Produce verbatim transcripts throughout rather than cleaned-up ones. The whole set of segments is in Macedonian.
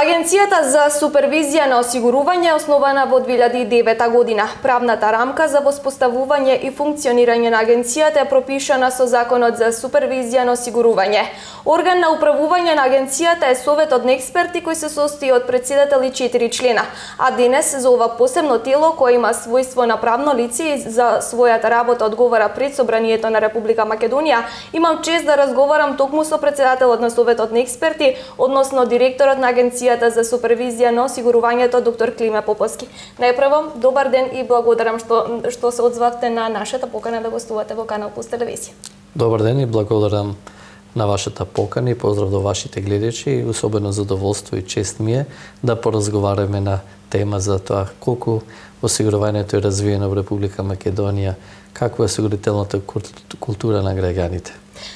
Агенцијата за супервизија на осигурување е основана во две илјади и девета година. Правната рамка за воспоставување и функционирање на агенцијата е пропишана со Законот за супервизија на осигурување. Орган на управување на агенцијата е советот на експерти кој се состои од претседател и четири члена. А денес за ова посебно тело кое има својство на правно лице и за својата работа одговара пред Собранието на Република Македонија, имам чест да разговарам токму со претседателот на советот на експерти, односно директорот на агенцијата за супервизија на осигурувањето доктор Климе Поповски. Најпрво, добар ден и благодарам што што се одзвавте на нашата покана да гостувате во Канал Плюс телевизија. Добар ден и благодарам на вашата покана и поздрав до вашите гледачи и особено задоволство и чест ми е да поразговараме на тема за тоа колку осигурувањето е развиено во Република Македонија, каква е осигурителната култура на граѓаните.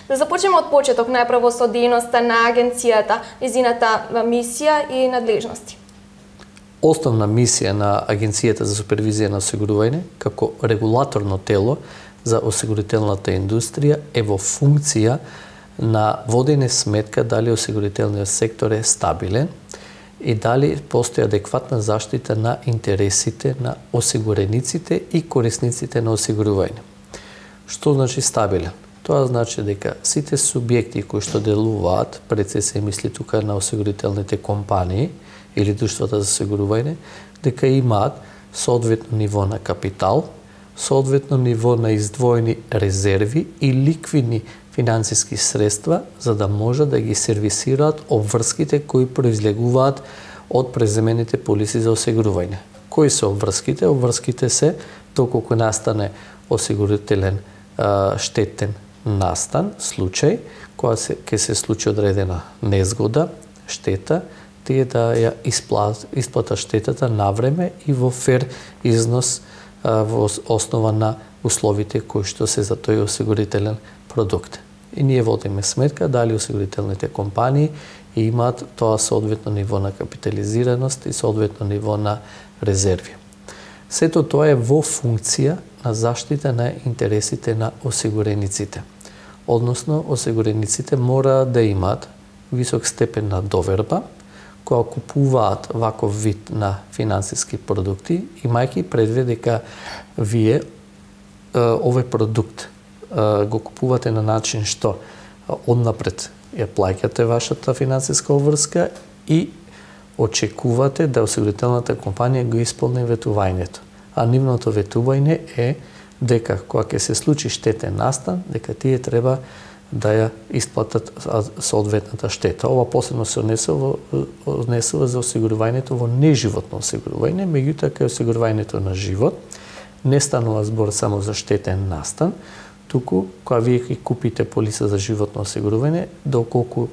Да започнеме од почеток, најпрво со дејноста на агенцијата, незината мисија и надлежности. Основна мисија на Агенцијата за супервизија на осигурување како регулаторно тело за осигурителната индустрија е во функција на водење сметка дали осигурителниот сектор е стабилен и дали постои адекватна заштита на интересите на осигурениците и корисниците на осигурување. Што значи стабилен? Тоа значи дека сите субјекти кои што делуваат, пред се се мисли тука на осигурителните компании или друштвата за осигурување, дека имаат соодветно ниво на капитал, соодветно ниво на издвоени резерви и ликвидни финансиски средства за да може да ги сервисираат обврските кои произлегуваат од преземените полиси за осигурување. Кои се обврските? Обврските се доколку настане осигурителен а, штетен настан, случај, кога се, ке се случи одредена незгода, штета, тие да ја исплат, исплата штетата на време и во фер износ а, во основа на условите кои што се за тој осигурителен продукт. И ние водиме сметка дали осигурителните компании имаат тоа соодветно ниво на капитализираност и соодветно ниво на резерви. Сето тоа е во функција на заштита на интересите на осигурениците. Односно, осигурениците мора да имаат висок степен на доверба, кога купуваат ваков вид на финансиски продукти, имајќи предвид дека вие овој продукт го купувате на начин што однапред ја плаќате вашата финансиска обврска и очекувате да осигурителната компанија го исполни ветувањето. А нивното ветување е дека кога ќе се случи штетен настан, дека тие треба да ја исплатат соодветната штета. Ова посебно се однесува, однесува за осигурувањето во неживотно осигурување, меѓутоа кај осигурувањето на живот не станува збор само за штетен настан, туку кога вие ќе купите полиса за животно осигурување, доколку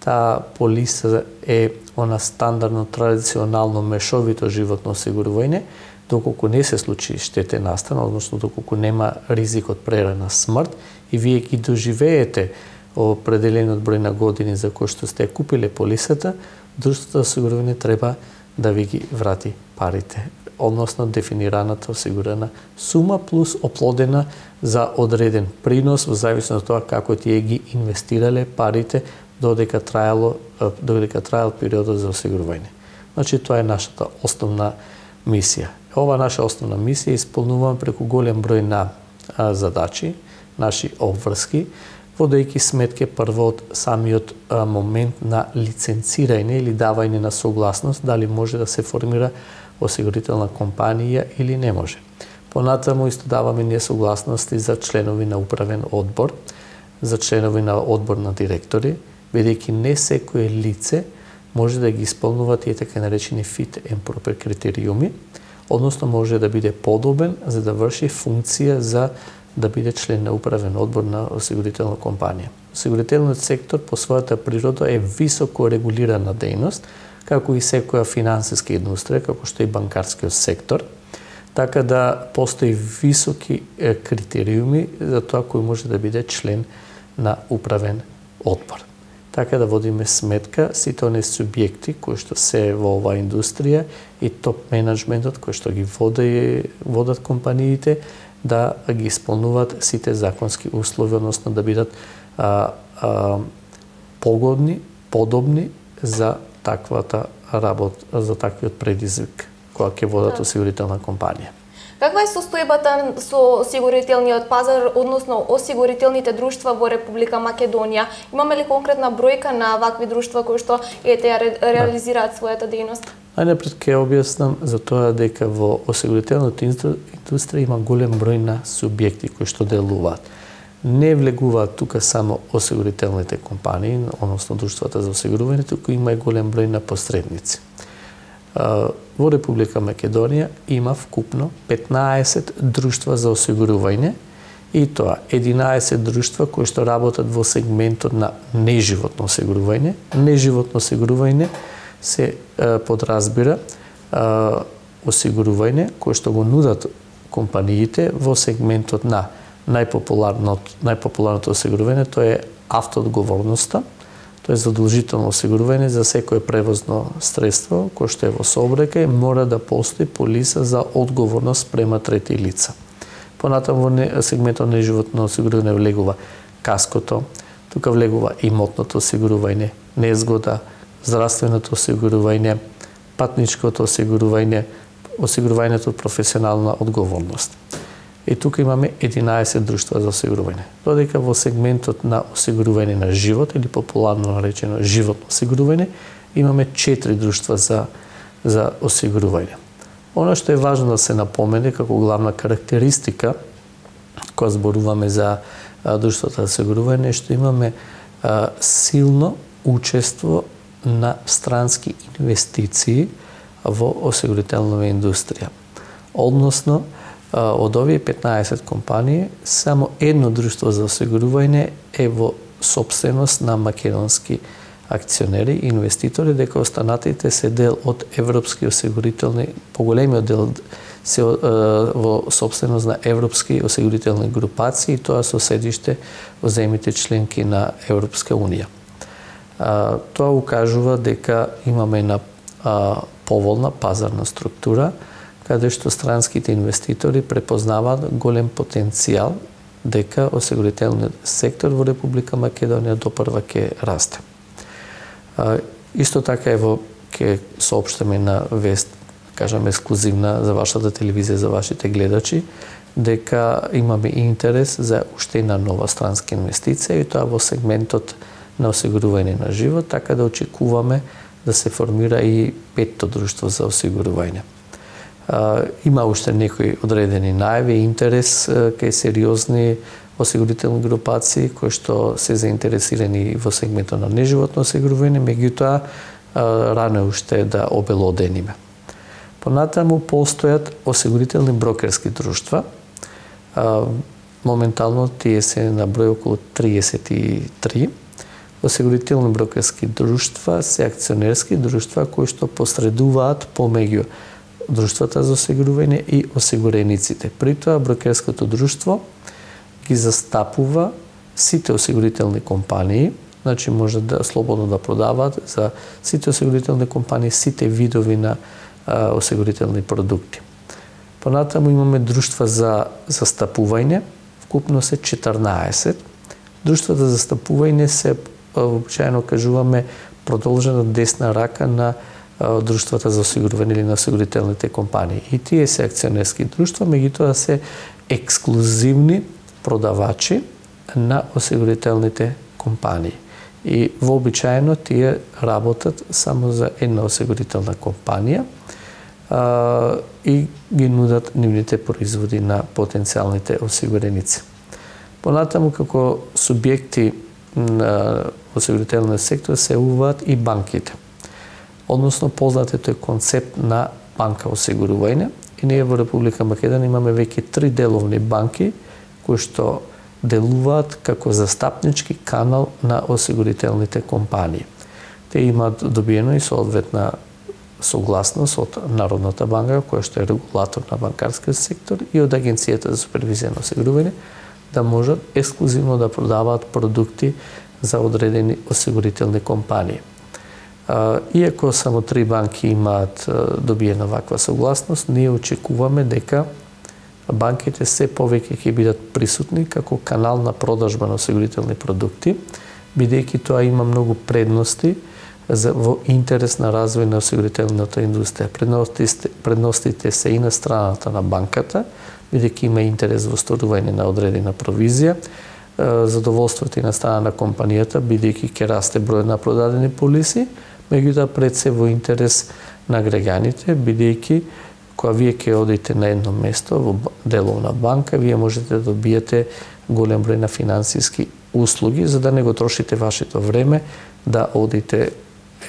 таа полиса е она стандардно традиционално мешовито животно осигурување, доколку не се случи штетен настан, односно доколку нема ризик од прерана смрт и вие ги доживеете определениот број на години за кои што сте купиле полисата, друштвото за осигурување треба да ви ги врати парите, односно дефинираната осигурана сума плюс оплодена за одреден принос во зависност од тоа како тие ги инвестирале парите додека траело додека траел периодот за осигурување. Значи тоа е нашата основна мисија. Ова наша основна мисија исполнуваме преку голем број на а, задачи, наши обврски, водејќи сметке прво од самиот а, момент на лиценцирање или давање на согласност дали може да се формира осигурителна компанија или не може. Понатаму исто даваме ние согласности за членови на управен одбор, за членови на одбор на директори, бидејќи не секое лице може да ги исполнува тие така наречени fit and proper критериуми, односно може да биде подобен за да врши функција за да биде член на управен одбор на осигурителна компанија. Осигурителниот сектор по својата природа е високо регулирана дејност, како и секоја финансиска индустрија, како што и банкарскиот сектор, така да постои високи критериуми за тоа кој може да биде член на управен одбор. Така да водиме сметка сите оние субјекти кои што се во оваа индустрија и топ менеджментот кои што ги води, водат компаниите да ги исполнуваат сите законски услови, односно да бидат а, а, погодни, подобни за таквата работ за таквиот предизвик кога ќе водат осигурителна компанија. Каква е состојбата со осигурителниот пазар, односно осигурителните друштва во Република Македонија? Имаме ли конкретна бројка на вакви друштва кои што ете ја ре, реализираат својата дејност? Најнапред ќе објаснам за тоа дека во осигурителната индустрија има голем број на субјекти кои што делуваат. Не влегуваат тука само осигурителните компании, односно друштвата за осигурување, туку има и голем број на посредници. Во Република Македонија има вкупно петнаесет друштва за осигурување и тоа единаесет друштва кои што работат во сегментот на неживотно осигурување. Неживотно осигурување се подразбира осигурување кое што го нудат компаниите во сегментот на најпопуларното најпопуларното осигурување, тоа е автоодговорноста. Тоа е задолжително осигурување за секое превозно средство кое што е во сообраќај, мора да постои полиса за одговорност према трети лица. Понатаму во сегментот на неживотно осигурување влегува каското, тука влегува имотното осигурување, незгода, здравственото осигурување, патничкото осигурување, осигурувањето од професионална одговорност. И тука имаме единаесет друштва за осигурување. Додека во сегментот на осигурување на живот или популарно наречено животно осигурување имаме четири друштва за за осигурување. Она што е важно да се напомене како главна карактеристика кога зборуваме за друштвата за осигурување е што имаме а, силно учество на странски инвестиции во осигурителната индустрија. Односно, од овие петнаесет компании, само едно друштво за осигурување е во сопственост на македонски акционери и инвеститори, дека останатите се дел од европски осигурителни, поголемиот дел се во сопственост на европски осигурителни групации, и тоа со седиште во земјите членки на Европска унија. Тоа укажува дека имаме една поволна пазарна структура, каде што странските инвеститори препознаваат голем потенцијал дека осигурителниот сектор во Република Македонија допрва ќе расте. Исто така ево ќе соопштиме на вест, кажам ексклузивна за вашата телевизија, за вашите гледачи, дека имаме интерес за уште една нова странска инвестиција и тоа во сегментот на осигурување на живот, така да очекуваме да се формира и петто друштво за осигурување. Има уште некои одредени најави и интерес кај сериозни осигурителни групации кои што се заинтересирани во сегментот на неживотно осигурување, меѓутоа рано е уште да обелодениме. Понатаму постојат осигурителни брокерски друштва. Моментално тие се на број околу триесет и три. Осигурителни брокерски друштва се акционерски друштва кои што посредуваат помеѓу друштвата за осигурување и осигурениците. При тоа брокерското друштво ги застапува сите осигурителни компании, значи може да слободно да продаваат за сите осигурителни компании, сите видови на а, осигурителни продукти. Понатаму имаме друштва за застапување, вкупно се четрнаесет. Друштвата за застапување се вообичаено кажуваме продолжена десна рака на друштвата за осигурување или на осигурителните компании. И тие се акционерски друштва, меѓутоа се ексклузивни продавачи на осигурителните компании. И вообичаено тие работат само за една осигурителна компанија а, и ги нудат нивните производи на потенцијалните осигуреници. Понатаму како субјекти на осигурителниот сектор се уваат и банките. Односно познатото е концепт на банка осигурување и ние во Република Македонија имаме веќе три деловни банки кои што делуваат како застапнички канал на осигурителните компании. Те имаат добиено и соодветна согласност од Народната банка, која што е регулатор на банкарскиот сектор, и од Агенцијата за супервизија на осигурување, да можат ексклузивно да продаваат продукти за одредени осигурителни компании. Иако само три банки имаат добиена ваква согласност, ние очекуваме дека банките се повеќе ќе бидат присутни како канал на продажба на осигурителни продукти, бидејќи тоа има многу предности за во интерес на развој на осигурителната индустрија. Предностите, предностите се и на страната на банката, бидејќи има интерес во осторување на одредена провизија, задоволството и на страна на компанијата, бидејќи ќе расте бројот на продадени полиси, меѓутоа пред се во интерес на граѓаните, бидејќи кога вие ќе одите на едно место во деловна банка, вие можете да добиете голем број на финансиски услуги, за да не го трошите вашето време да одите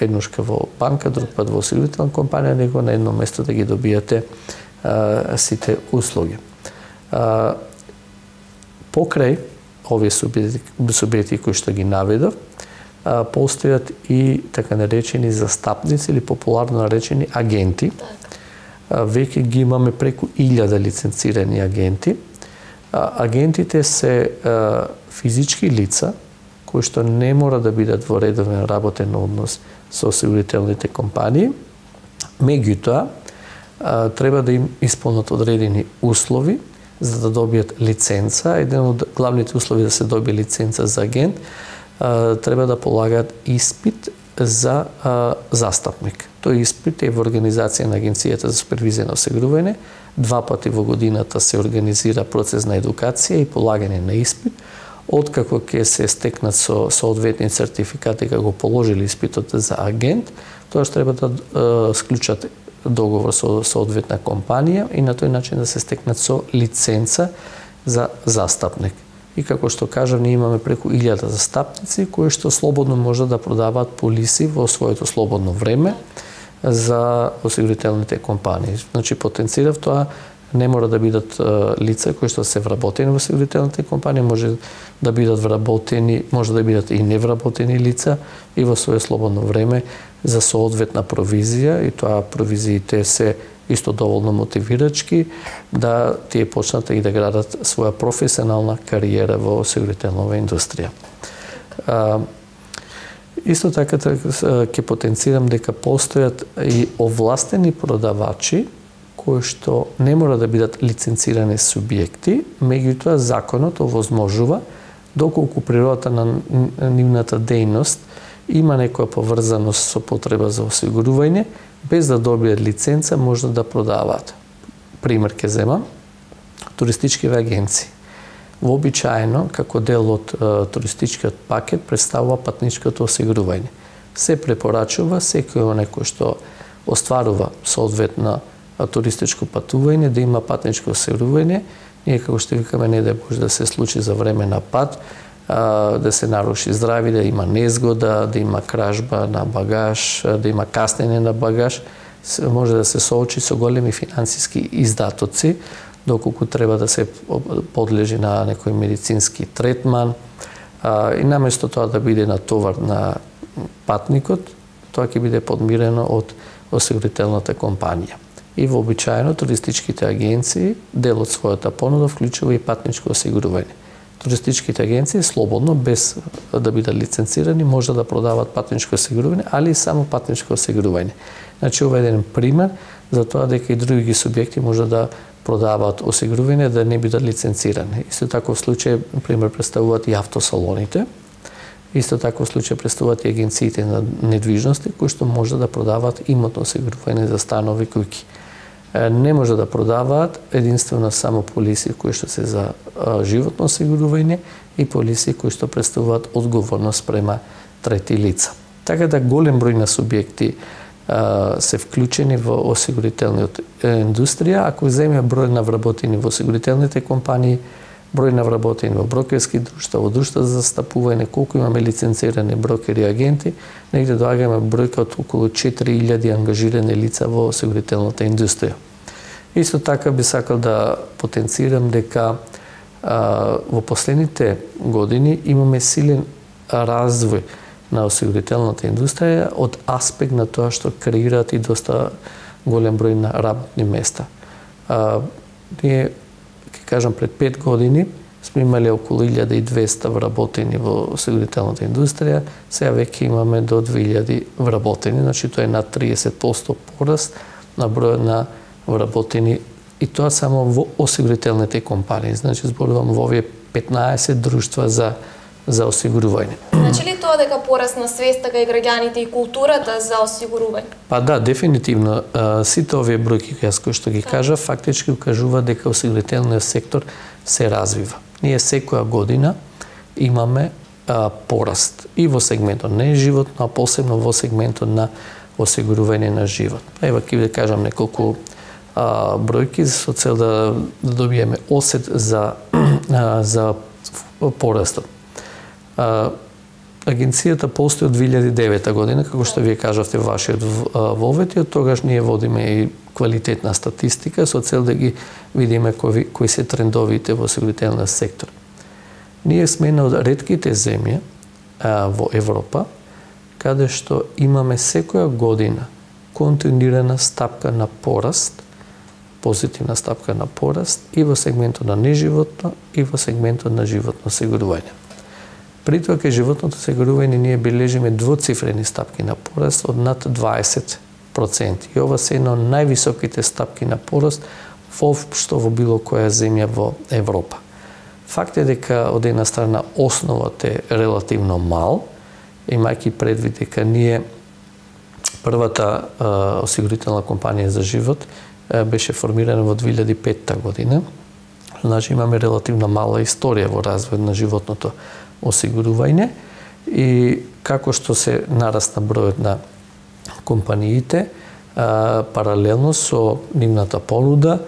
еднушка во банка, друг пат во осигурителна компанија, него на едно место да ги добиете а, сите услуги. А, покрај овие субјекти, субјекти кои што ги наведов, а, постојат и така наречени застапници или популарно наречени агенти. А, веќе ги имаме преку илјада лиценцирани агенти. А, агентите се а, физички лица кои што не мора да бидат во редовен работен однос со осигурителните компании, меѓутоа треба да им исполнат одредени услови за да добијат лиценца. Еден од главните услови да се добие лиценца за агент, треба да полагаат испит за застапник. Тој испит е во организација на Агенцијата за супервизија на осигурување. Два пати во годината се организира процес на едукација и полагање на испит. Откако ќе се стекнат со соодветни сертификати како положили испитот за агент, тоа што треба да е, склучат договор со соодветна компанија и на тој начин да се стекнат со лиценца за застапник. И како што кажав, ние имаме преку илјада застапници кои што слободно може да продаваат полиси во своето слободно време за осигурителните компании. Значи, потенцирав тоа, не мора да бидат лица кои што се вработени во осигурителните компании, може да бидат вработени, може да бидат и невработени лица и во свое слободно време за соодветна провизија, и тоа провизиите се исто доволно мотивирачки да тие почнат и да градат своја професионална кариера во осигурителната индустрија. А, исто така ќе потенцирам дека постојат и овластени продавачи кои што не мора да бидат лиценцирани субјекти, меѓутоа законот овозможува, доколку природата на нивната дејност има некоја поврзаност со потреба за осигурување, без да добијат лиценца може да продаваат. Пример ќе земам, туристичките агенции. Вообичаено, како дел од е, туристичкиот пакет, представува патничкото осигурување. Се препорачува секој оној кој што остварува соодветна туристичко патување да има патничко осигурување. Ние, како што викаме, не да може да се случи за време на пат, а, да се наруши здрави, да има незгода, да има кражба на багаж, да има каснење на багаж, може да се соочи со големи финансиски издатоци, доколку треба да се подлежи на некој медицински третман. А, и наместо тоа да биде натовар на патникот, тоа ќе биде подмирено од осигурителната компанија. И вообичаено туристичките агенции дел од својата понуда вклучува и патничко осигурување. Туристичките агенции слободно, без да бидат лиценцирани, може да продават патничко осигурување, али и само патничко осигурување. Значи, ова е еден пример за тоа дека и други субјекти може да продаваат осигурување да не бидат лиценцирани. Исто така в случај, пример, представуваат и автосалоните. Исто така в случај представуваат и агенциите на недвижности кои што може да продаваат имотно осигурување за станови, куќи. Не може да продаваат единствено само полиси кои што се за животно осигурување и полиси кои што представуваат одговорност према трети лица. Така да голем број на субјекти а, се вклучени во осигурителната индустрија. Ако земе број на вработени во осигурителните компании, број на вработени во брокерски друштва, во друштва за застапување, колку имаме лиценцирани брокери и агенти, негде доаѓаме бројка од околу четири илјади ангажирани лица во осигурителната индустрија. Исто така би сакал да потенцирам дека а, во последните години имаме силен развој на осигурителната индустрија од аспект на тоа што креираат и доста голем број на работни места. А, ние кажам, пред пет години сме имали околу илјада и двесте вработени во осигурителната индустрија, сега веќе имаме до две илјади вработени, значи тоа е над триесет проценти пораст на бројот на вработени, и тоа само во осигурителните компании. Значи зборувам во овие петнаесет друштва за за осигурување. Значи ли тоа дека порасна свеста кај граѓаните и културата за осигурување? Па да, дефинитивно. Сите овие бројки кои што ги кажа, фактички укажуваат дека осигурителниот сектор се развива. Ние секоја година имаме а, пораст и во сегментот на животно, а посебно во сегментот на осигурување на живот. Ева ќе ви кажам неколку а, бројки со цел да, да добиеме осет за а, за порастот. А, агенцијата постои од две илјади и девета година, како што вие кажавте во вашиот вовет, и од тогаш ние водиме и квалитетна статистика со цел да ги видиме кои, кои се трендовите во осигурителниот сектор. Ние сме една од ретките земји а, во Европа каде што имаме секоја година континуирана стапка на пораст, позитивна стапка на пораст и во сегментот на неживотно и во сегментот на животно осигурување. При тоа кај животното осигурување ние бележиме двоцифрени стапки на пораст од над дваесет проценти. И ова се една од највисоките стапки на пораст воопшто во било која земја во Европа. Факт е дека од една страна основата е релативно мал, имајќи предвид дека ние првата а, осигурителна компанија за живот а, беше формирана во две илјади и петта година. Значи имаме релативно мала историја во развојот на животното осигурување и како што се нарасна бројот на компаниите, а, паралелно со нивната понуда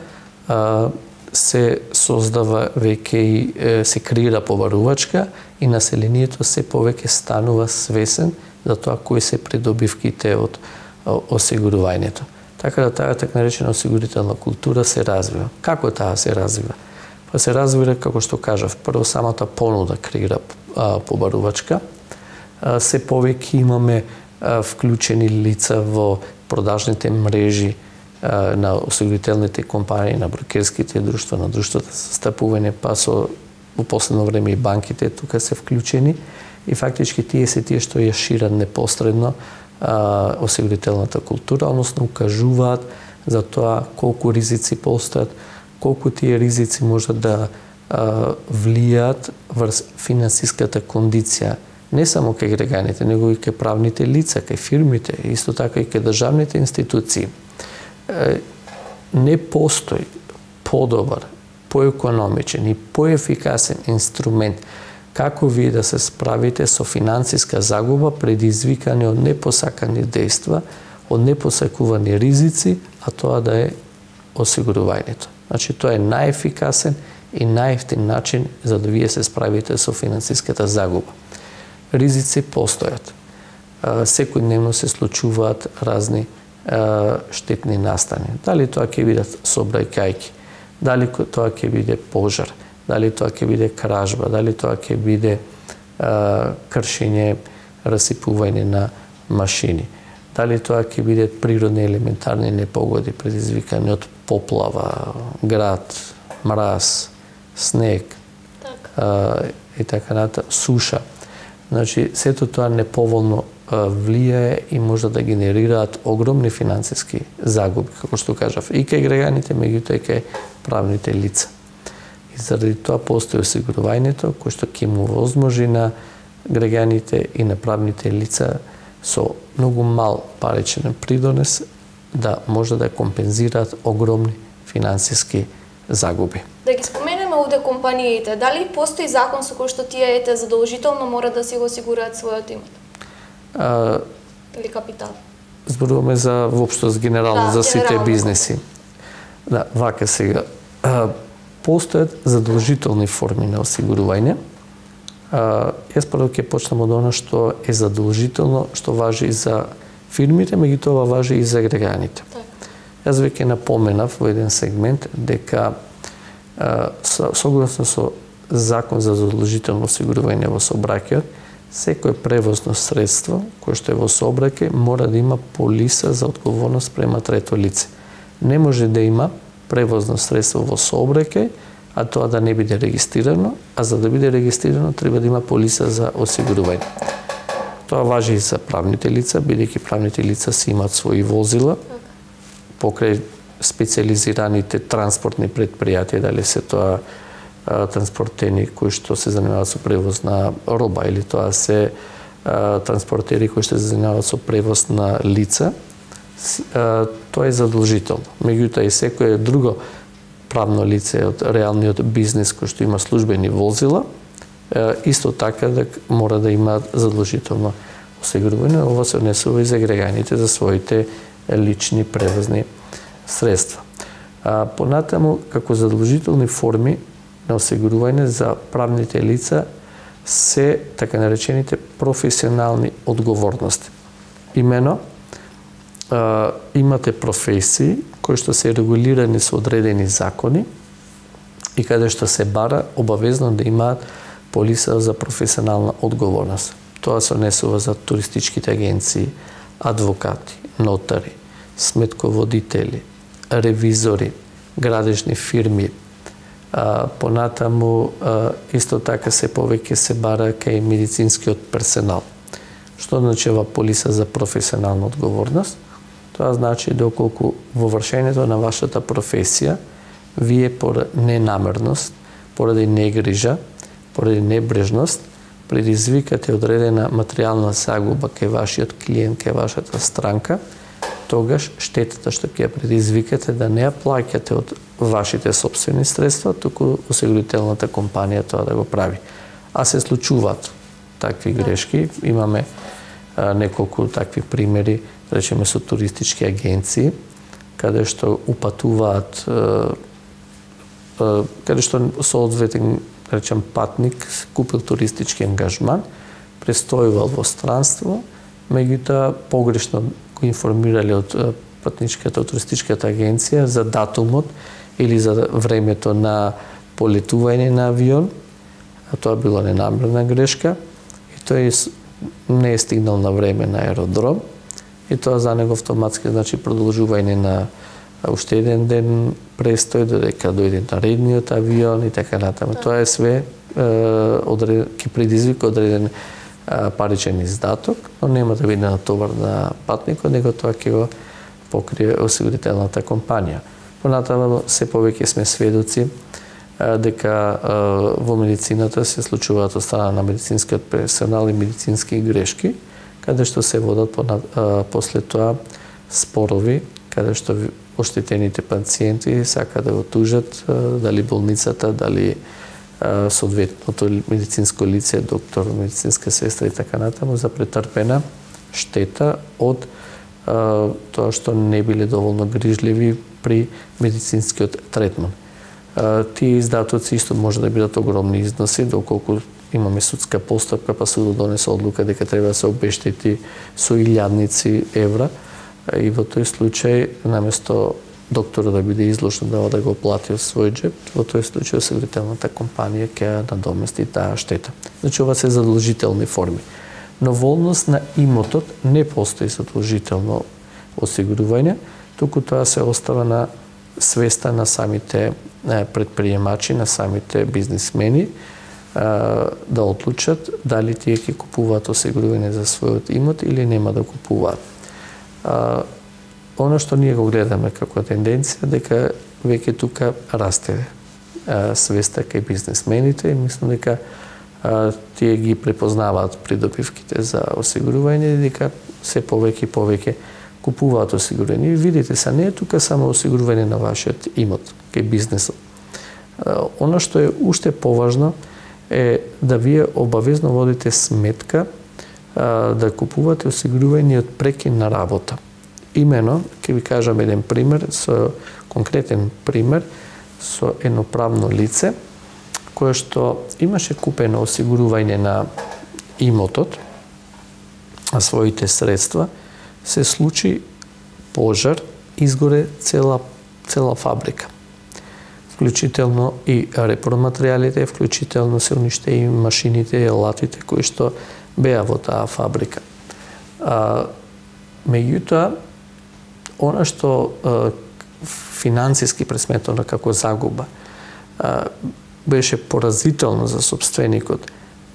а, се создава веќе и е, се креира побарувачка и населението се повеќе станува свесен за тоа кои се придобивките од осигурувањето. Така да таа така наречена осигурителна култура се развива. Како таа се развива? Па се развива, како што кажав, прво самата понуда креира а, побарувачка, а, се повеќе имаме а, вклучени лица во продажните мрежи а, на осигурителните компании, на брокерските друштва, на друштвата за застапување, па со во последно време и банките тука се вклучени и фактички тие се тие што ја шират непосредно а, осигурителната култура, односно укажуваат за тоа колку ризици постојат, колку тие ризици можат да а, влијаат врз финансиската кондиција, не само кај граѓаните, него и кај правните лица, кај фирмите, исто така и кај државните институции. Е, не постои подобар, поекономичен и поефикасен инструмент како вие да се справите со финансиска загуба предизвикани од непосакани дејства, од непосакувани ризици, а тоа да е осигурувањето. Значи, тоа е најефикасен и најевтин начин за да вие се справите со финансиската загуба. Ризици постојат. Секојдневно се случуваат разни штетни настани. Дали тоа ќе бидат сообраќајки, дали тоа ќе биде пожар, дали тоа ќе биде кражба, дали тоа ќе биде а, кршење, расипување на машини, дали тоа ќе биде природни елементарни непогоди предизвикани од поплава, град, мраз, снег, так. а, и така натаму, суша. Значи, сето тоа неповолно влијае и може да генерираат огромни финансиски загуби, како што кажав, и кај граѓаните, меѓутоа и кај правните лица. И заради тоа постои осигурувањето, кој што ќе му возможи на граѓаните и на правните лица со многу мал паричен придонес да може да компензираат огромни финансиски загуби. Да ги споменеме овде компаниите, дали постои закон со кој што тие ете задолжително мора да си го осигураат својот имот? А, или капитал? Зборуваме за воопшто генерално да, за сите генерално. бизнеси. Да, вака сега. А, постојат задолжителни форми на осигурување. А, јас прво ќе почнам од она што е задолжително, што важи и за фирмите, меѓутоа важи и за граѓаните. Так. Јас веќе напоменав во еден сегмент дека а, согласно со закон за задолжително осигурување во сообраќајот, секој превозно средство кое што е во сообраќај мора да има полиса за одговорност према трето лице. Не може да има превозно средство во сообраќај, а тоа да не биде регистрирано, а за да биде регистрирано треба да има полиса за осигурување. Тоа важи и за правните лица, бидејќи правните лица си имаат своји возила покрај специализираните транспортни предпријатија, дали се тоа транспортери кои што се занимаваат со превоз на роба или тоа се транспортери кои што се занимаваат со превоз на лица, тоа е задолжително. Меѓутоа и секое друго правно лице од реалниот бизнес кој што има службени возила, исто така да мора да има задолжително осигурување. Ова се однесува и за граѓаните за своите лични превозни средства. А, понатаму, како задолжителни форми на осигурување за правните лица се така наречените професионални одговорности. Имено, а, имате професии кои што се регулирани со одредени закони и каде што се бара обавезно да имаат полиса за професионална одговорност. Тоа се однесува за туристичките агенции, адвокати, нотари, сметководители, ревизори, градежни фирми. А, понатаму а, исто така се повеќе се бара кај медицинскиот персонал. Што значи полиса за професионална одговорност? Тоа значи доколку во вршењето на вашата професија вие поради ненамерност, поради негрижа, поради небрежност предизвикате одредена материјална загуба кај вашиот клиент, кај вашата странка, тогаш штетата што ќе ја предизвикате да не ја плаќате од вашите собствени средства, туку осигурителната компанија тоа да го прави. А се случуваат такви грешки. Имаме а, неколку такви примери, речеме со туристички агенции, каде што упатуваат, а, а, каде што соодветен, речем, патник купил туристички ангажман, престојувал во странство, меѓутоа погрешно го информирале од патничката, од туристичката агенција за датумот или за времето на полетување на авион, а тоа било ненамерна грешка, и тој не е стигнал на време на аеродром, и тоа за него автоматски значи продолжување на уште еден ден престој, додека дојде наредниот авион и така натаму. Тоа е све ќе предизвика одреден паричен издаток, но нема да биде натовар на патникот, него тоа ќе го покрие осигурителната компанија. Понатаму се повеќе сме сведоци дека во медицината се случуваат од страна на медицинскиот персонал и медицински грешки, каде што се водат после тоа спорови, каде што оштетените пациенти сака да го тужат дали болницата, дали соодветното медицинско лице, доктор, медицинска сестра и така натаму за претрпена штета од а, тоа што не биле доволно грижливи при медицинскиот третман. А, тие издатоци исто може да бидат огромни износи, доколку имаме судска постапка, па судот донесе одлука дека треба да се обештети со илјадници евра, и во тој случај, наместо докторот да биде изложен да да го плати од свој джеб, во тој случај осигурителната компанија ќе надомести таа штета. Значи, ова се задолжителни форми. Но во однос на имотот не постои задолжително осигурување, туку тоа се остава на свеста на самите предприемачи, на самите бизнисмени, да одлучат дали тие ќе купуваат осигурување за својот имот или нема да купуваат. Оно што ние го гледаме како тенденција, дека веќе тука расте а, свеста кај бизнисмените и мислам дека а, тие ги препознаваат придобивките за осигурување и дека се повеќе и повеќе купуваат осигурување. И видите се, не е тука само осигурување на вашиот имот кај бизнесот. А, оно што е уште поважно е да вие обавезно водите сметка а, да купувате осигурување од прекин на работа. Имено, ќе ви кажам еден пример, со конкретен пример, со едно правно лице, кое што имаше купено осигурување на имотот, а своите средства, се случи пожар, изгоре цела, цела фабрика. Вклучително и репроматеријалите, вклучително се униште и машините и алатите кои што беа во таа фабрика. А, меѓутоа, она што а, финансиски пресметано како загуба а, беше поразително за собственикот,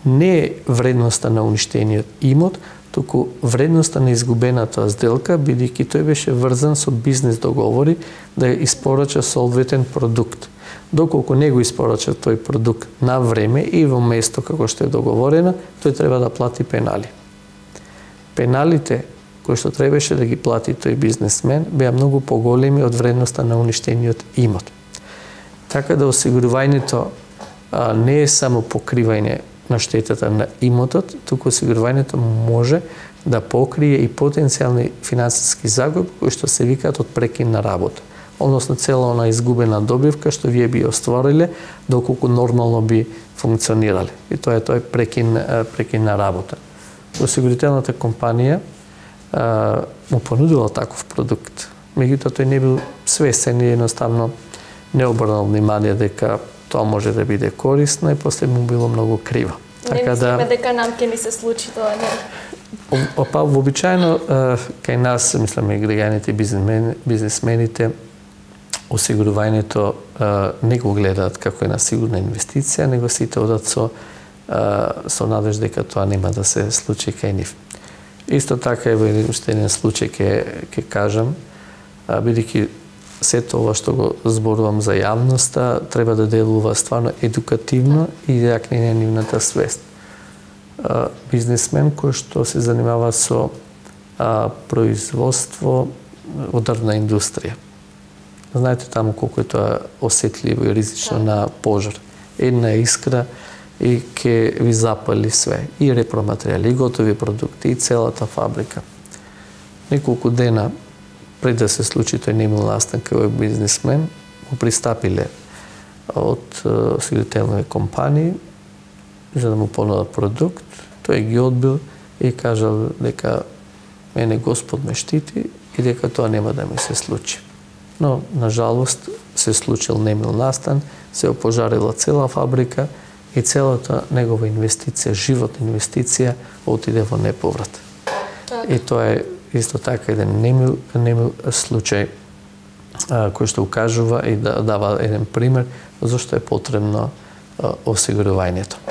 не е вредноста на уништениот имот, туку вредноста на изгубената сделка, бидејќи тој беше врзан со бизнес договори да испорача соодветен продукт. Доколку не го испорача тој продукт на време и во место како што е договорено, тој треба да плати пенали. Пеналите кои што требаше да ги плати тој бизнесмен беа многу поголеми од вредноста на уништениот имот. Така да осигурувањето а, не е само покривање на штетата на имотот, туку осигурувањето може да покрие и потенцијални финансиски загуби кои што се викаат од прекин на работа, односно цела она изгубена добивка што вие би оствариле доколку нормално би функционирале. И тоа е тој прекин, прекин на работа. Осигурителната компанија а, му понудила таков продукт. Меѓутоа тој не бил свесен и едноставно не обрнал внимание дека тоа може да биде корисно и после му било многу криво. Не мислиме да... дека нам ќе ни се случи тоа, не? Па вообичаено кај нас, мисламе, граѓаните бизнесмени, бизнесмените, осигурувањето не го гледаат како една сигурна инвестиција, него сите одат со со надеж дека тоа нема да се случи кај нив. Исто така е во еден случај ќе ќе кажам, бидејќи сето ова што го зборувам за јавноста треба да делува стварно едукативно и да јакне нивната свест. Бизнесмен кој што се занимава со а, производство во дрвна индустрија. Знаете таму колку е тоа осетливо и ризично да. На пожар. Една искра и ќе ви запали све. И репроматеријали, и готови продукти, и целата фабрика. Неколку дена пред да се случи тој немил настан кај овој бизнесмен, му пристапиле од осигурителни компании за да му понудат продукт. Тој ги одбил и кажал дека мене Господ ме штити и дека тоа нема да ми се случи. Но, на жалост, се случил немил настан, се опожарила цела фабрика и целата негова инвестиција, животна инвестиција, отиде во неповрат. Так. И тоа е исто така еден немил, немил случај а, кој што укажува и да дава еден пример зашто е потребно а, осигурувањето.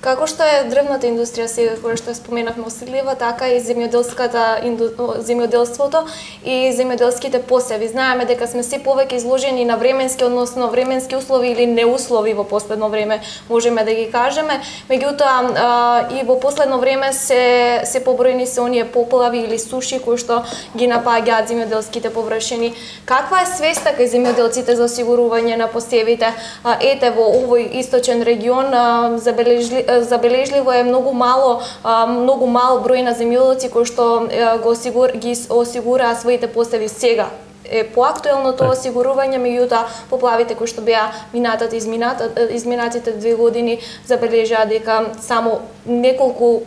Како што е дрвната индустрија сега, која што споменавме осетлива, така и земјоделската инду... земјоделството и земјоделските посеви. Знаеме дека сме се повеќе изложени на временски, односно временски услови или неуслови во последно време, можеме да ги кажеме. Меѓутоа и во последно време се се побројни се оние поплави или суши кои што ги напаѓаат земјоделските површини. Каква е свеста кај земјоделците за осигурување на посевите? Ете во овој источен регион забележли забележливо е многу мало многу мал број на земјоделци кои што го осигур, ги осигураа своите посеви сега. Е поактуелно тоа осигурување, меѓутоа поплавите кои што беа минатата изминатите две години забележаа дека само неколку,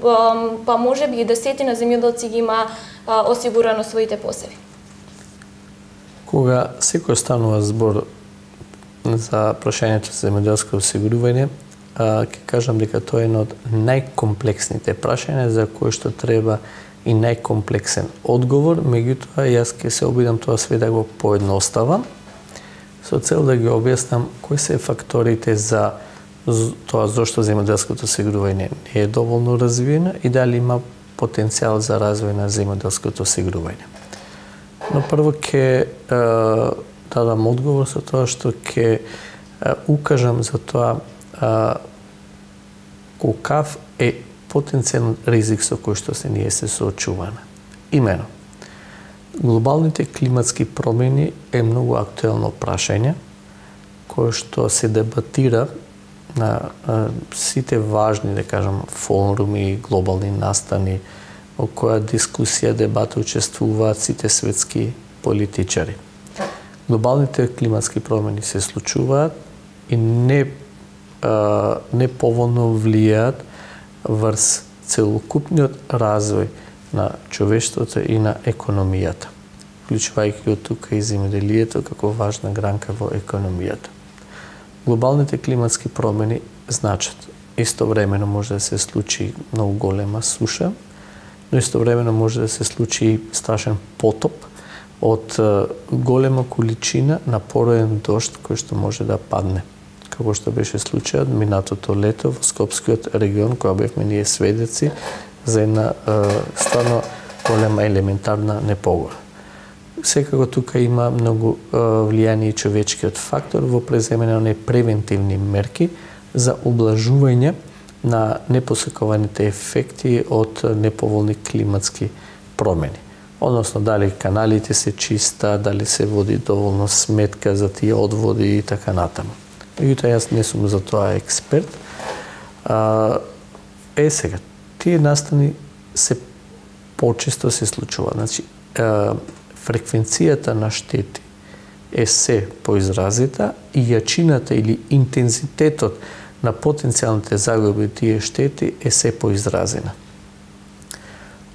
па можеби и десетина земјоделци ги има осигурано своите посеви. Кога секој станува збор за прашањето за земјоделско осигурување, ќе кажам дека тоа е едно од најкомплексните прашања за кои што треба и најкомплексен одговор, меѓутоа јас ќе се обидам тоа све да го поедноставам со цел да ги објаснам кои се факторите за тоа зошто земјоделското осигурување не е доволно развиено и дали има потенцијал за развој на земјоделското осигурување. Но прво ќе дадам одговор со тоа што ќе укажам за тоа Uh, колкав е потенцијален ризик со кој што се ние се соочуваме. Имено, глобалните климатски промени е многу актуелно прашање кое што се дебатира на uh, сите важни, да кажам, форуми, глобални настани, во која дискусија, дебата учествуваат сите светски политичари. Глобалните климатски промени се случуваат и не не поволно влијаат врз целокупниот развој на човештвото и на економијата, вклучувајќи од тука и земјоделието како важна гранка во економијата. Глобалните климатски промени значат истовремено може да се случи многу голема суша, но истовремено може да се случи и страшен потоп од голема количина на пороен дожд кој што може да падне, како што беше случајот минатото лето во Скопскиот регион, кога бевме ние сведеци за една е, стварно голема елементарна непогода. секако тука има многу влијание и човечкиот фактор во преземање на превентивни мерки за облажување на непосекуваните ефекти од неповолни климатски промени. Односно, дали каналите се чиста, дали се води доволно сметка за тие одводи и така натаму. Меѓутоа, јас не сум за тоа експерт. А, е, сега, тие настани се почесто се случува. Значи, а, фреквенцијата на штети е се поизразита и јачината или интензитетот на потенцијалните загуби тие штети е се поизразена.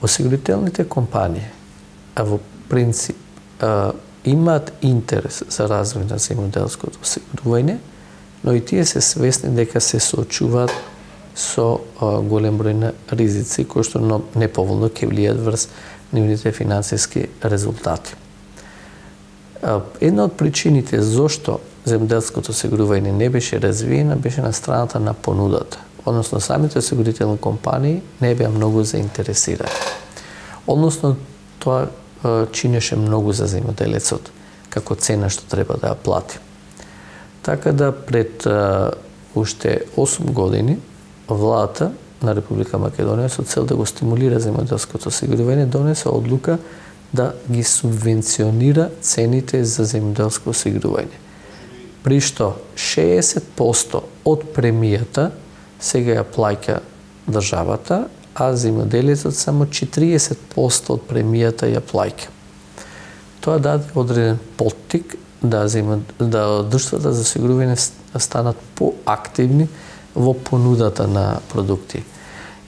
Осигурителните компании, а во принцип, а, имаат интерес за развој на земјоделското осигурување, но и тие се свесни дека се соочуваат со а, голем број на ризици кои што неповолно ќе влијат врз нивните финансиски резултати. А, една од причините зошто земјоделското осигурување не беше развиено беше на страната на понудата. Односно, самите осигурителни компании не беа многу заинтересирани. Односно, тоа а, чинеше многу за земјоделецот како цена што треба да ја плати. Така да пред а, уште осум години владата на Република Македонија со цел да го стимулира земјоделското осигурување донесе одлука да ги субвенционира цените за земјоделско осигурување. При што шеесет проценти од премијата сега ја плаќа државата, а земјоделецот само четириесет проценти од премијата ја плаќа. Тоа даде одреден поттик да земја, да друштвата за осигурување станат поактивни во понудата на продукти.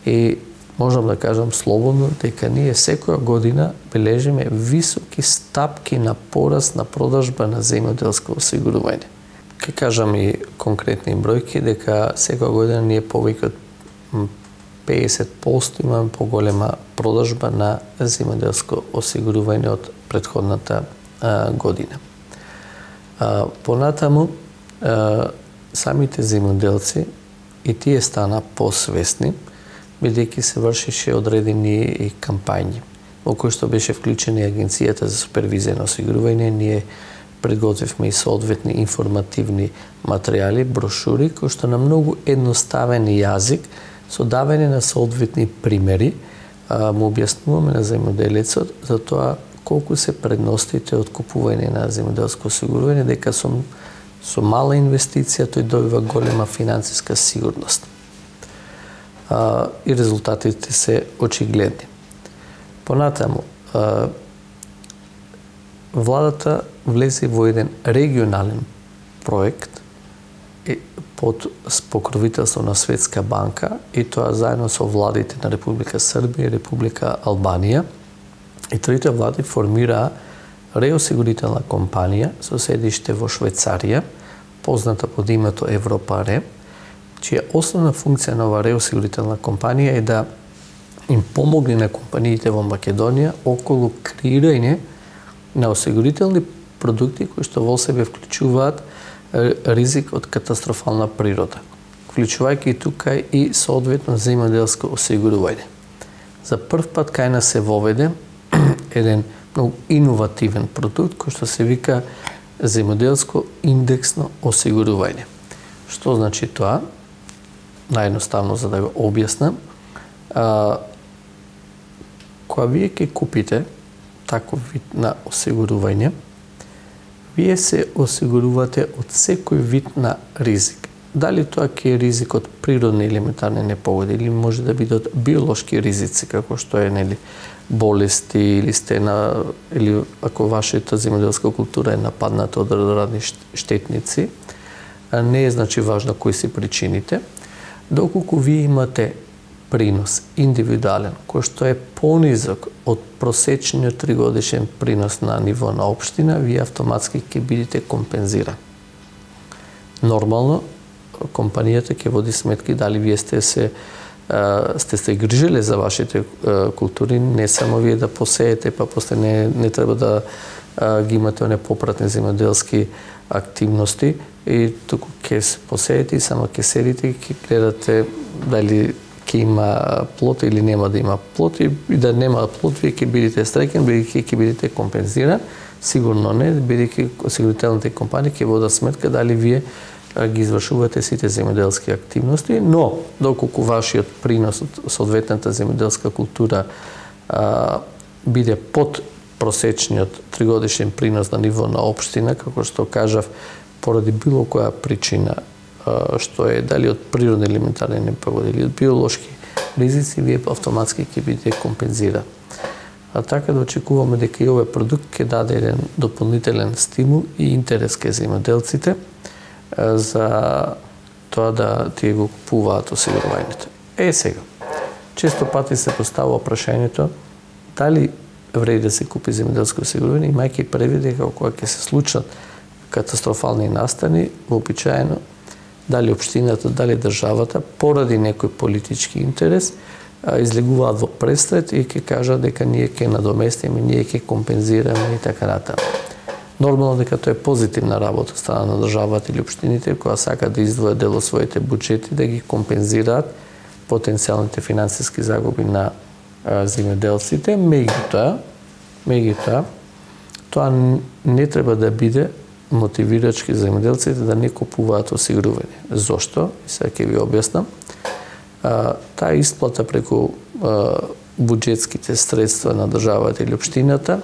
И можам да кажам слободно дека ние секоја година бележиме високи стапки на пораст на продажба на земјоделско осигурување. Ке кажам и конкретни бројки дека секоја година ние повеќе од педесет проценти имаме поголема продажба на земјоделско осигурување од претходната а, година. А, понатаму а, самите земјоделци и тие стана посвесни, бидејќи се вршеше одредени и кампањи, во кои што беше вклучена Агенцијата за супервизија на осигурување. Ние предготвивме и соодветни информативни материјали, брошури, кои што на многу едноставен јазик, со давање на соодветни примери, му објаснуваме на земјоделецот за тоа колку се предностите од купување на земјоделско осигурување, дека со, со мала инвестиција тој добива голема финансиска сигурност. А, и резултатите се очигледни. Понатаму, а, владата влезе во еден регионален проект под покровителство на Светска банка, и тоа заедно со владите на Република Србија и Република Албанија. И трите влади формираа реосигурителна компанија со седиште во Швајцарија, позната под името Европаре, чија основна функција на оваа реосигурителна компанија е да им помогне на компаниите во Македонија околу креирање на осигурителни продукти кои што во себе вклучуваат ризик од катастрофална природа, вклучувајќи тука и соодветно земјоделско осигурување. За прв пат кај нас се воведе еден многу иновативен продукт кој што се вика земјоделско индексно осигурување. Што значи тоа? Наједноставно за да го објаснам, а, кога вие ќе купите таков вид на осигурување, вие се осигурувате од секој вид на ризик. Дали тоа ќе е ризик од природни елементарни непогоди, или може да биде од биолошки ризици, како што е нели болести, или сте на, или ако вашата земјоделска култура е нападната од разни штетници, не е значи важно кои се причините, доколку вие имате принос индивидуален, кој што е понизок од просечниот тригодишен принос на ниво на општина, вие автоматски ќе бидете компензирани. Нормално, компанијата ќе води сметки дали вие сте се сте се грижеле за вашите култури, не само вие да посеете, па после не, не треба да ги имате оне попратни земјоделски активности, и туку ќе се посеете и само ќе седите и ќе гледате дали ќе има плот или нема да има плот, и да нема плот, вие ќе бидете среќен, бидејќи ќе бидете компензиран. Сигурно не, бидејќи осигурителните компании ќе водат сметка дали вие ги извршувате сите земјоделски активности, но доколку вашиот принос од соодветната земјоделска култура а, биде под просечниот тригодишен принос на ниво на општина, како што кажав, поради било која причина, а, што е дали од природни елементарни непогоди или од биолошки ризици, вие автоматски ќе бидете компензирани. А така да очекуваме дека и овој продукт ќе даде еден дополнителен стимул и интерес кај земјоделците за тоа да тие го купуваат осигурувањето. Е, сега, често пати се поставува прашањето дали вреди да се купи земјоделско осигурување, имајќи предвид дека кога ќе се случат катастрофални настани, вообичаено дали општината, дали државата, поради некој политички интерес, излегуваат во престрет и ќе кажат дека ние ќе надоместиме, ние ќе компензираме и така натаму. Нормално дека тоа е позитивна работа страна на државата или општините, која сака да издвојат дел од своите буџети, да ги компензираат потенцијалните финансиски загуби на земјоделците, меѓутоа, меѓутоа, тоа не треба да биде мотивирачки за земјоделците да не купуваат осигурување. Зошто? Сега ќе ви објаснам. Таа исплата преку буџетските средства на државата или општината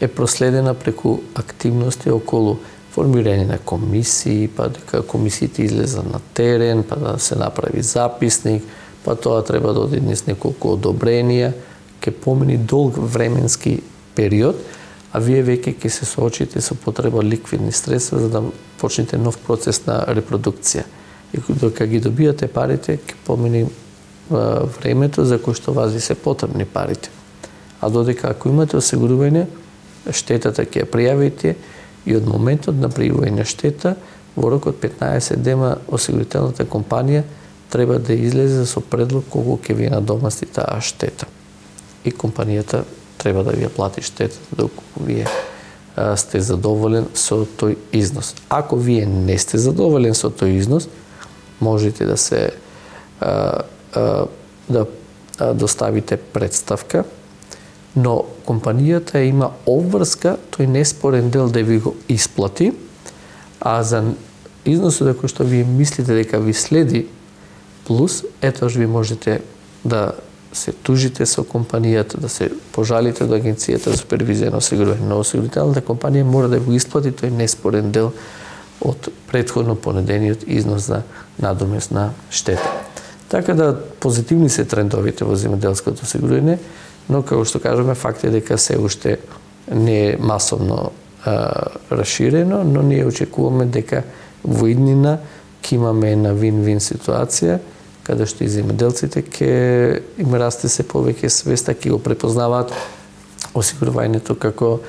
е проследена преку активности околу формирање на комисии, па дека комисиите излезат на терен, па да се направи записник, па тоа треба да оди низ неколку одобренија, ќе помини долг временски период, а вие веќе ќе се соочите со потреба ликвидни средства за да почнете нов процес на репродукција. И докога ги добијате парите, ќе помини времето за кој што вас ви се потребни парите. А додека ако имате осигурување, штетата ќе ја пријавите и од моментот на пријавување штета, во рок од петнаесет дена осигурителната компанија треба да излезе со предлог колку ќе ви надомасти таа штета. И компанијата треба да ви ја плати штетата доколку вие а, сте задоволен со тој износ. Ако вие не сте задоволен со тој износ, можете да се а, а, да а, доставите представка, но компанијата има обврска тој неспорен дел да ви го исплати, а за износот кој што вие мислите дека ви следи плюс, етош ви можете да се тужите со компанијата, да се пожалите до Агенцијата за супервизија на осигурување. Но осигурителната компанија мора да го исплати тој неспорен дел од претходно понудениот износ за надомесна штета. Така да позитивни се трендовите во земјоделското осигурување, но како што кажаме, факт е дека се уште не е масовно а, расширено, но ние очекуваме дека во иднина ќе имаме една вин-вин ситуација, каде што и земјоделците ќе им расте се повеќе свеста, ќе го препознаваат осигурувањето како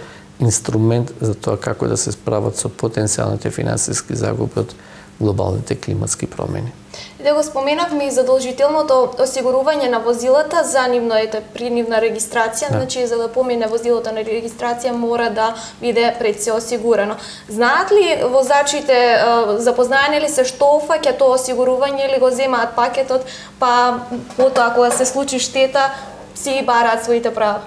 инструмент за тоа како да се справат со потенцијалните финансиски загуби од глобалните климатски промени. И да го споменавме и задолжителното осигурување на возилата за нивно ете при нивна регистрација, да. Значи за да помине возилото на регистрација мора да биде пред се осигурано. Знаат ли возачите, запознаени ли се што офаќа тоа осигурување или го земаат пакетот, па потоа кога се случи штета си бараат своите права?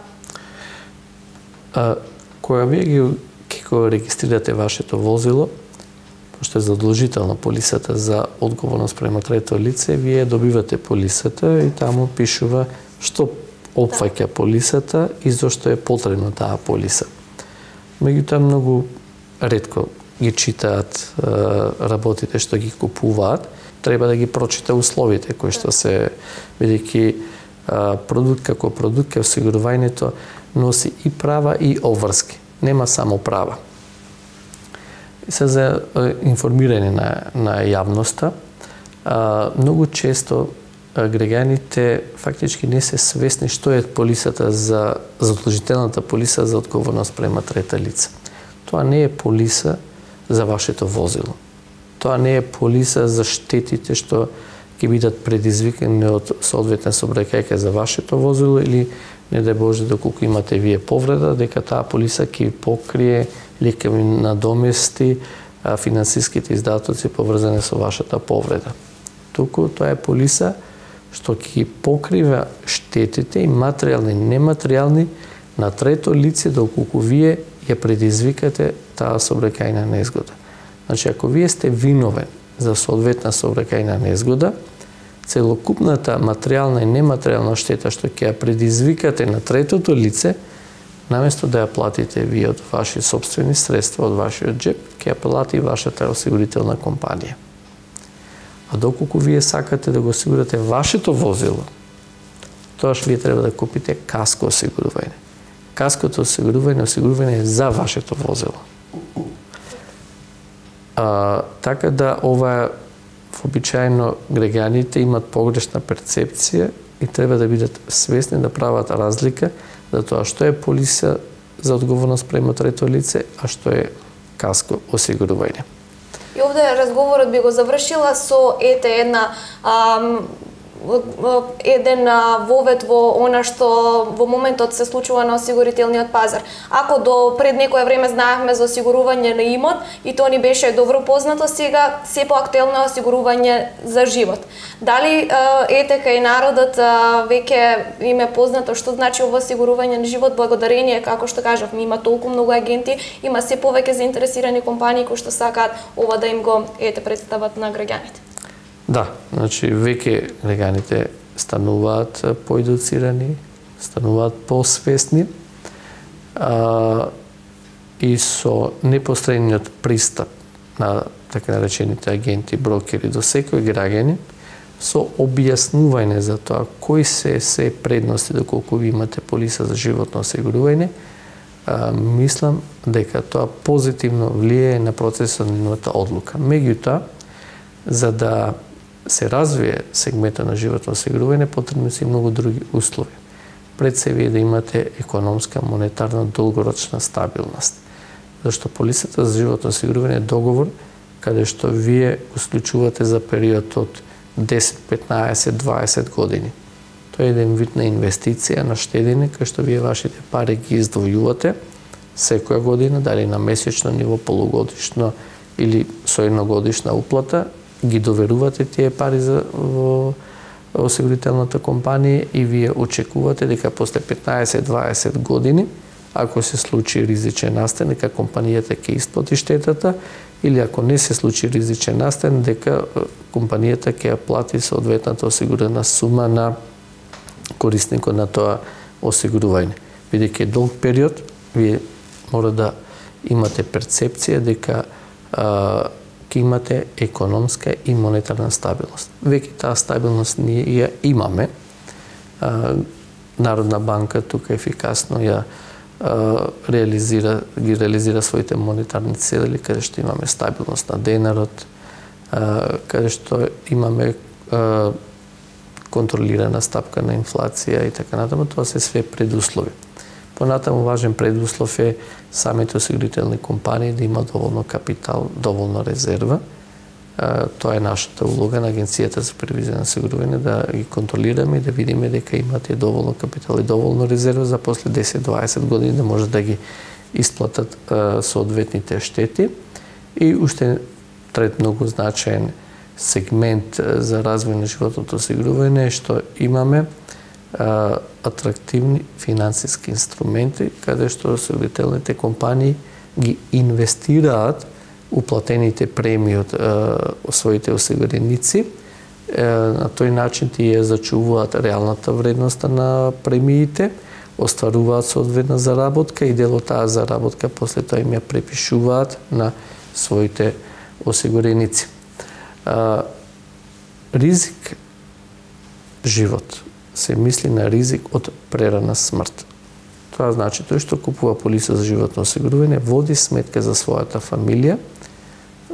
А, кога вие ги ќе го регистрирате вашето возило, пошто е задолжителна полисата за одговорност према трето лице, вие добивате полисата и таму пишува што опфаќа полисата и зошто е потребна таа полиса. Меѓутоа многу ретко ги читаат работите што ги купуваат, треба да ги прочита условите кои што се, бидејќи продукт како продукт, осигурувањето носи и права и обврски. Нема само права. И се за информирање на, на јавноста, а, многу често а, граѓаните фактички не се свесни што е полисата за задолжителната полиса за одговорност према трета лица. Тоа не е полиса за вашето возило. Тоа не е полиса за штетите што ќе бидат предизвикани од соодветна сообраќајка за вашето возило или не дај Боже доколку имате вие повреда, дека таа полиса ќе покрие или ќе ви надомести финансиските издатоци поврзани со вашата повреда. туку тоа е полиса што ќе покрива штетите и материјални и нематеријални на трето лице доколку вие ја предизвикате таа сообраќајна незгода. Значи, ако вие сте виновен за соодветна сообраќајна незгода, целокупната материјална и нематеријална штета што ќе ја предизвикате на третото лице, наместо да ја платите вие од ваши собствени средства, од вашиот джеб, ќе ја плати вашата осигурителна компанија. А доколку вие сакате да го осигурате вашето возило, тоаш вие треба да купите каско осигурување. Каското осигурување, осигурување е за вашето возило. А, така да ова вообичаено граѓаните имат погрешна перцепција и треба да бидат свесни да прават разлика за тоа што е полиса за одговорност према трето лице, а што е каско осигурување. И овде разговорот би го завршила со ете една ам, еден вовет во она што во моментот се случува на осигурителниот пазар. Ако до пред некое време знаевме за осигурување на имот и тоа ни беше добро познато, сега се поактуелно е осигурување за живот. Дали ете кај народот веќе им е познато што значи ова осигурување на живот, благодарение, како што кажавме, има толку многу агенти, има се повеќе заинтересирани компании кои што сакаат ова да им го ете представат на граѓаните. Да, значи веќе граѓаните стануваат поедуцирани, стануваат посвесни а, и со непосредниот пристап на така наречените агенти, брокери до секој граѓанин, со објаснување за тоа кои се се предности доколку ви имате полиса за животно осигурување, а, мислам дека тоа позитивно влијае на процесот на нивната одлука. Меѓутоа, за да се развие сегментот на животно осигурување, потребни се и многу други услови. Пред се вие да имате економска, монетарна, долгорочна стабилност. Зашто полисата за животно осигурување е договор каде што вие го склучувате за период од десет, петнаесет, дваесет години. Тоа е еден вид на инвестиција, на штедење, кај што вие вашите пари ги издвојувате секоја година, дали на месечно ниво, полугодишно или со едногодишна уплата, ги доверувате тие пари за во осигурителната компанија и вие очекувате дека после петнаесет до дваесет години, ако се случи ризичен настан, дека компанијата ќе исплати штетата, или ако не се случи ризичен настан, дека компанијата ќе ја плати соодветната осигурена сума на корисникот на тоа осигурување. Бидејќи долг период, вие мора да имате перцепција дека а, ќе имате економска и монетарна стабилност. Веќе таа стабилност ние ја имаме. А, Народна банка тука ефикасно ја а, реализира, ги реализира своите монетарни цели, каде што имаме стабилност на денарот, а, каде што имаме а, контролирана стапка на инфлација и така натаму. Тоа се све предуслови. Понатаму важен предуслов е самите осигурителни компании да има доволно капитал, доволно резерва. Тоа е нашата улога на Агенцијата за супервизија на осигурување, да ги контролираме и да видиме дека имате доволно капитал и доволно резерва за после десет до дваесет години да може да ги исплатат соодветните штети. И уште трет многу значаен сегмент за развој на животното осигурување е што имаме атрактивни финансиски инструменти, каде што осигурителните компании ги инвестираат уплатените премии од своите осигуреници. На тој начин тие зачувуваат реалната вредност на премиите, остваруваат соодветна заработка и дел од таа заработка после тоа им ја препишуваат на своите осигуреници. Ризик живот се мисли на ризик од прерана смрт. Тоа значи тој што купува полиса за животно осигурување води сметка за својата фамилија,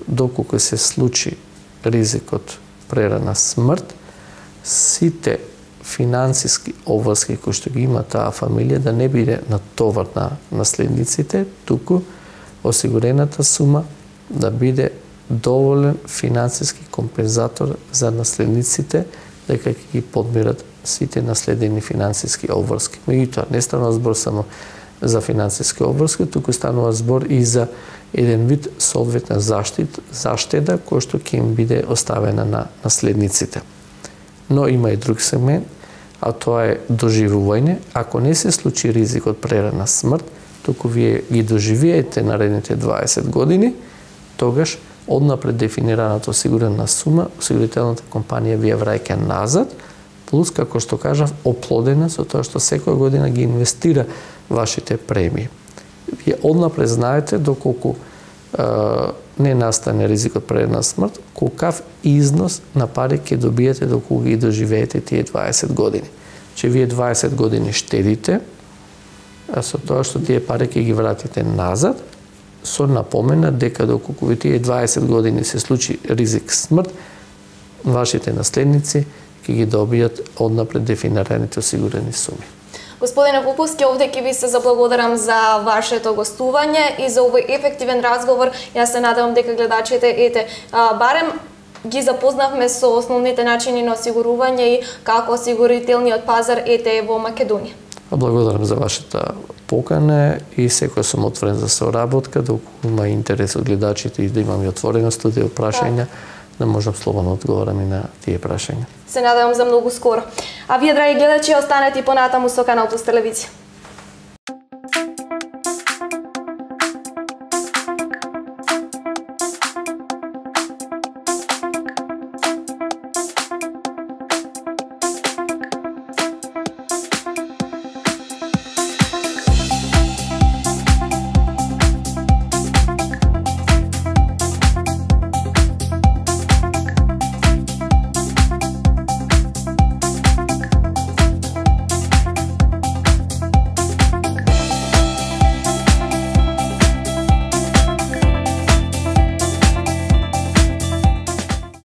доколку се случи ризик од прерана смрт, сите финансиски обврски кои што ги има таа фамилија да не биде натовар на наследниците, туку осигурената сума да биде доволен финансиски компензатор за наследниците, дека ќе ги подмират сите наследени финансиски обврски. Меѓутоа, не станува збор само за финансиски обврски, туку станува збор и за еден вид соодветна заштит, заштеда која што ќе им биде оставена на наследниците. Но има и друг сегмент, а тоа е доживување. Ако не се случи ризик од прерана смрт, туку вие ги доживеете наредните дваесет години, тогаш однапред дефинираната осигурена сума, осигурителната компанија ви ја враќа назад, плюс, како што кажав, оплодена со тоа што секоја година ги инвестира вашите премии. Вие однапред знаете доколку е, не настане ризик од прерана смрт, колкав износ на пари ќе добиете доколку ги доживеете тие дваесет години. Че вие дваесет години штедите, а со тоа што тие пари ќе ги вратите назад, со напомена дека доколку ви тие дваесет години се случи ризик смрт, вашите наследници ќе ги добијат однапред дефинираните осигурени суми. Господине Поповски, овде ќе ви се заблагодарам за вашето гостување и за овој ефективен разговор. Јас се надевам дека гледачите, ете, барем ги запознавме со основните начини на осигурување и како осигурителниот пазар ете во Македонија. Благодарам за вашата покана и секој сум отворен за соработка, доколку има интерес од гледачите и да имам и отворена студија прашања, да можам слободно одговорам и на тие прашања. Се надевам за многу скоро. А вие, драги гледачи, останете и понатаму со Канал Плюс телевизија.